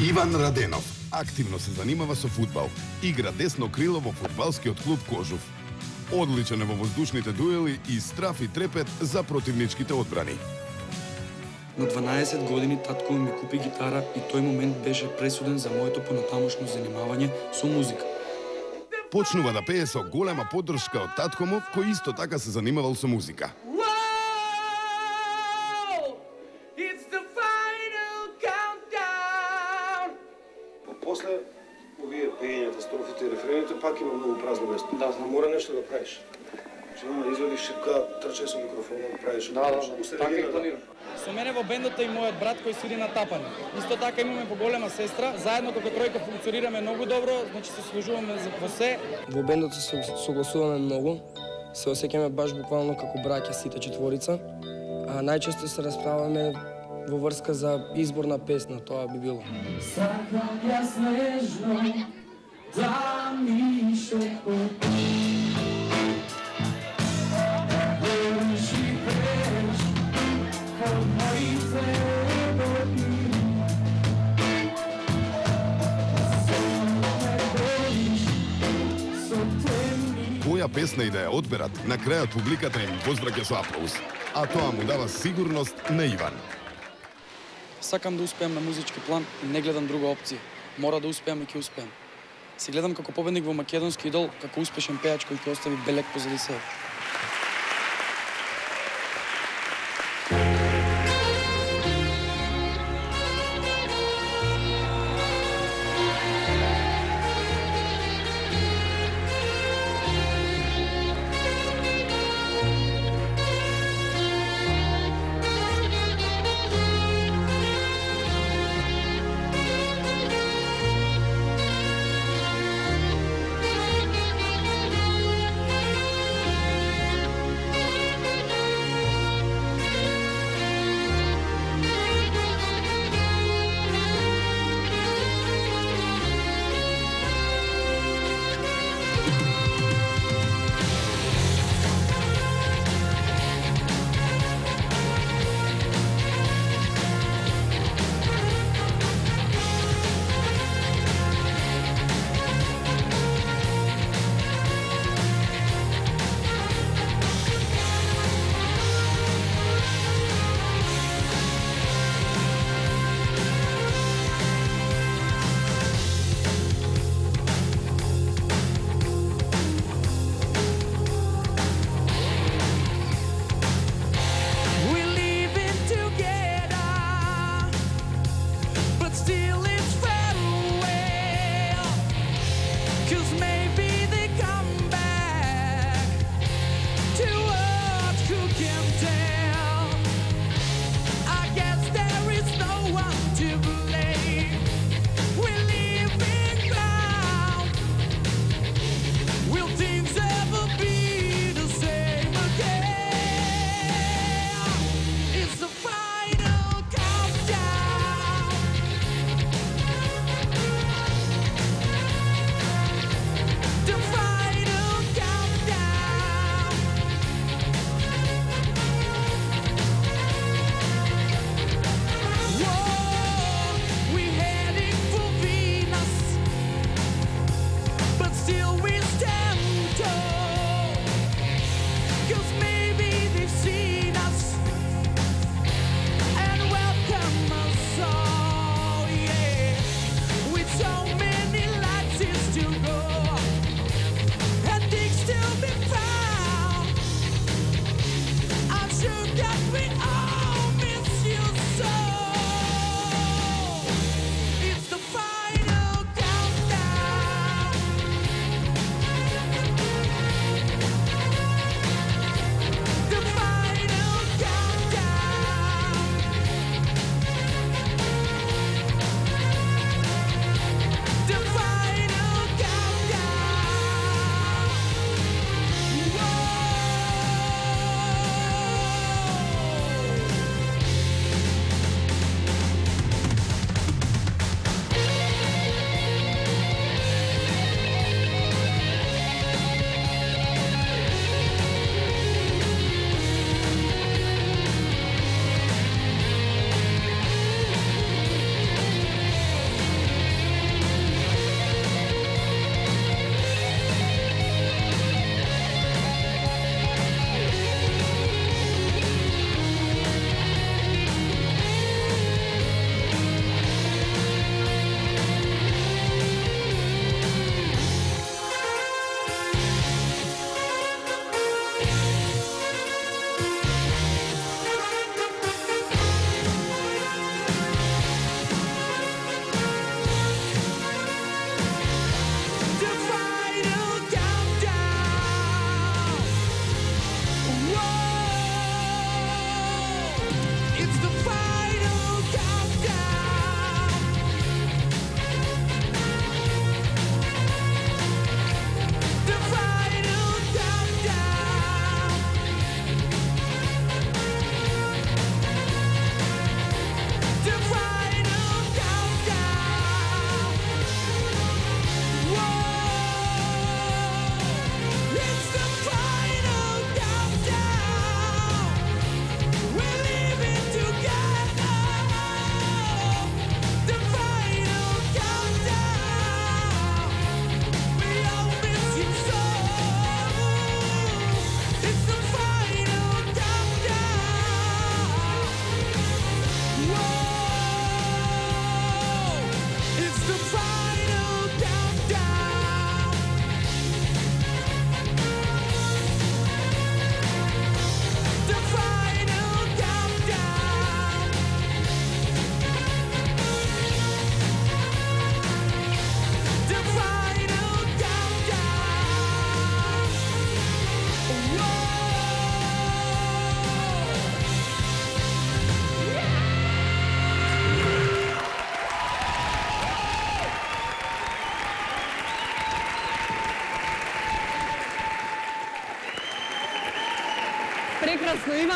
Иван Раденов активно се занимава со фудбал. Игра десно крило во фудбалскиот клуб Кожув. Одличен е во воздушните дуели и страф и трепет за противничките одбрани. На 12 години татко ми купи гитара и тој момент беше пресуден за моето понатамошно занимавање со музика. Почнува да пее со голема поддршка од татко му, кој исто така се занимавал со музика. После овие пеењата, строфите и рефрените, пак има многу празно место. Да, мора нешто да правиш. Има да извадиш шипка, трчај со микрофонот, правиш. Да, така и планирам. Со мене во бендот е и мојот брат кој свири на тапане. Исто така имаме поголема сестра, заедно како тројка функционираме многу добро, значи се служуваме во се. Во бендот се согласуваме многу, се осеќаме баш буквално како браќа сите четворица, а најчесто се расправаме во врска за избор на песна, тоа би било. Сакам ја снежно да ми шепотиш. Која песна и да ја одберат, на крајот публиката им возвраќа со аплауз. А тоа му дава сигурност на Иван. Сакам да успеам на музички план и не гледам друга опција. Мора да успеам и ќе успеам. Се гледам како победник во македонски идол, како успешен пејач кој ќе остави белег позади себе.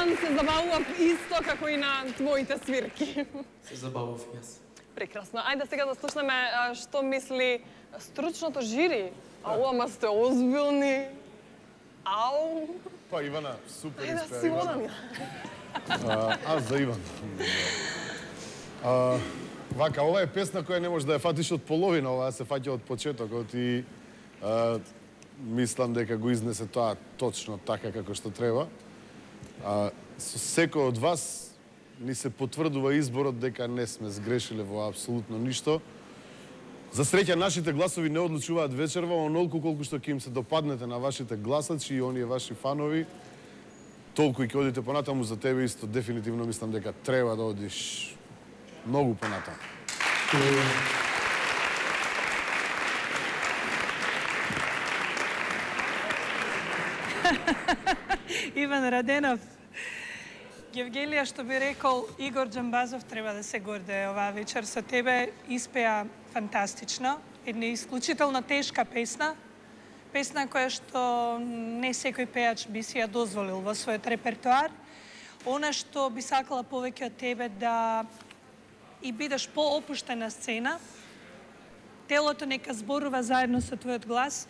Иван се забавува исто како и на твоите свирки. Се забавав и јас. Прекрасно. Ајде сега да слушнеме што мисли стручното жири. Ау, ама сте озбилни. Ау. Па Ивана, супер Ајде, испеа, Симона Ивана. ми. Аз за Иван. Вака, ова е песна која не може да ја фатиш од половина, ова се фаќа од почетокот и мислам дека го изнесе тоа точно така како што треба. Со секој од вас ни се потврдува изборот дека не сме сгрешиле во апсолутно ништо. За среќа, нашите гласови не одлучуваат вечерва, онолку колку што ќе им се допаднете на вашите гласачи и оние ваши фанови, толку и ќе одите понатаму. За тебе исто дефинитивно мислам дека треба да одиш многу понатаму. Иван Раденов. Евгелија, што би рекол Игор Џамбазов, треба да се гордее оваа вечер со тебе. Испеа фантастично. Една исклучително тешка песна. Песна која што не секој пеач би си ја дозволил во својот репертоар. Она што би сакала повеќе од тебе да и бидеш поопуштен на сцена. Телото нека зборува заедно со твојот глас.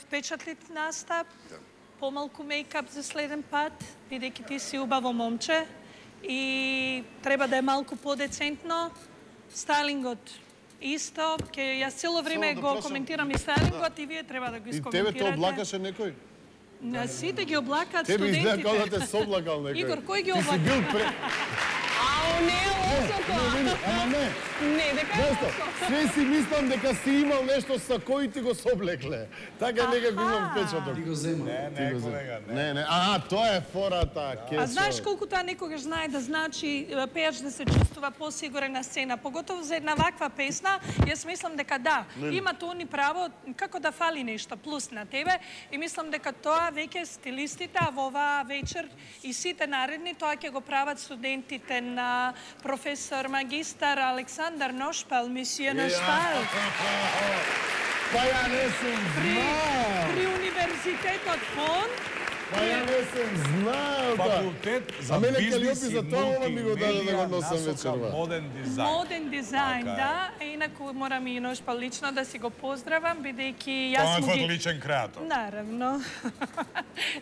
Впечатлив настап. Помалку мейкап за следен пат, бидејќи ти си убаво момче и треба да е малку подецентно. Стайлингот исто, јас цело време го коментирам и стайлингот и вие треба да го искоментирате. И тебе те облакаше некој? Сите ги облакаат Тебе студентите. изгледа како да те соблакал некој. Игор, кој ги Ти си бил облака? Ау, не е лошо тоа. Ама не. Не, дека е Зашто? лошо. Све си мислам дека си имал нешто со кој ти го соблекле. Така некако имам впечаток. Ти го зема. Не, колега, не. Тоа е фората, кесо. А знаеш колку тоа некогаш знае да значи пеач да се чувствува посигурен на сцена, поготово за една ваква песна. Јас мислам дека да, има тони право како да фали нешто плюс на тебе и мислам дека тоа веќе стилистите во оваа вечер и сите наредни тоа ќе го прават студентите на професор магистар Александар Ношпал, месије Ношпал. Па ја не сум знал. При универзитетот Фон. Па ја не сум знал. Факултет за А мене Калиопи бизнис и за тоа ова ми го даде да го носам насока вечерва. моден дизајн. Моден дизајн, Така е. да. Инаку морам и Ношпал лично да си го поздравам, бидејќи Тоа јас е му твојот ги... личен креатор. Наравно.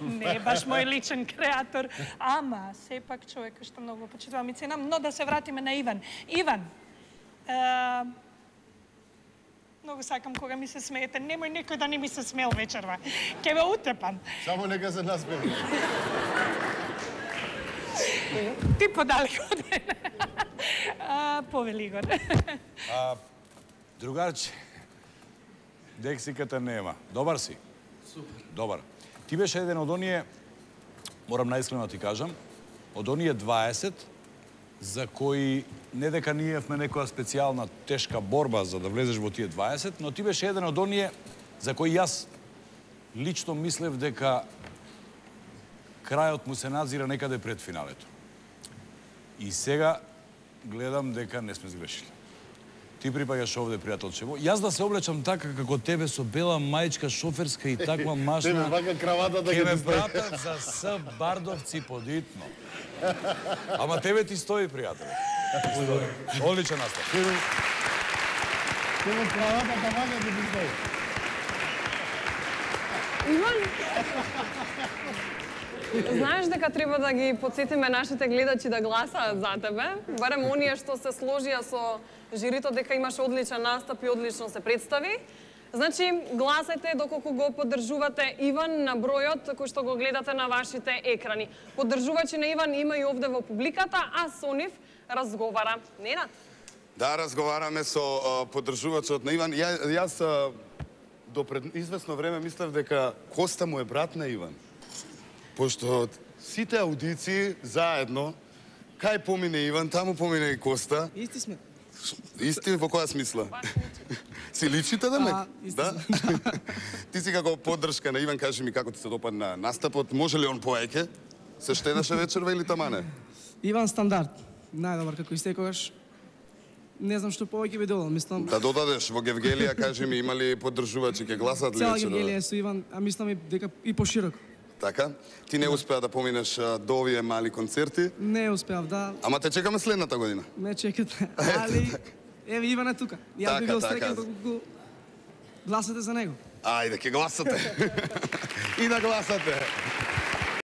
Не е баш мој личен креатор, ама сепак човека што многу почитувам и ценам, но да се вратиме на Иван. Иван, многу сакам кога ми се смеете. Немој некој да не ми се смел вечерва. Ке ве утепам. Само нека се насмева. Ти подали годен. Повели Игор. Другарче, дексиката нема. Добар си? Супер. Добар. Ти беше еден од оние, морам наисклено ти кажам, од оние 20 за кои не дека ние имавме некоја специјална тешка борба за да влезеш во тие 20, но ти беше еден од оние за кои јас лично мислев дека крајот му се надзира некаде пред финалето. И сега гледам дека не сме сгрешили. Ти припаѓаш овде, пријателчево. Јас да се облечам така како тебе со бела мајчка шоферска и таква машна. Тебе вака кравата да ќе ме ги стави. пратат за С Бардовци подитно. Ама тебе ти стои, пријател. Одличен настав. Тебе кравата да вака да ги стои. Иван, знаеш дека треба да ги подсетиме нашите гледачи да гласаат за тебе, барем оние што се сложија со жирито дека имаш одличен настап и одлично се представи. Значи, гласајте доколку го поддржувате Иван на бројот кој што го гледате на вашите екрани. Поддржувачи на Иван има и овде во публиката, а со нив разговара Ненад. Да, разговараме со поддржувачот на Иван. Јас до пред известно време мислев дека Коста му е брат на Иван. Пошто сите аудиции заедно, кај помине Иван, таму помине и Коста. Исти сме. Исти во која смисла? Си личите да ме? Да? Ти си како поддршка на Иван, кажи ми како ти се допадна настапот, може ли он поеќе? Се штедаше вечерва или тамане? Иван стандард. Најдобар како и секогаш. Не знам што повеќе би додал, мислам. Да додадеш во Гевгелија, кажи ми, има ли поддржувачи, ќе гласат ли Цела вечерва? Гевгелија е со Иван, а мислам и дека и пошироко. Така? Ти не успеа да поминеш до овие мали концерти, Не успеав, да. ама те чекаме следната година. Ме чекате. Али, еве Иван е тука. Јас би Така, бил така. среќен доколку гласате за него. Ајде, ќе гласате. И да гласате.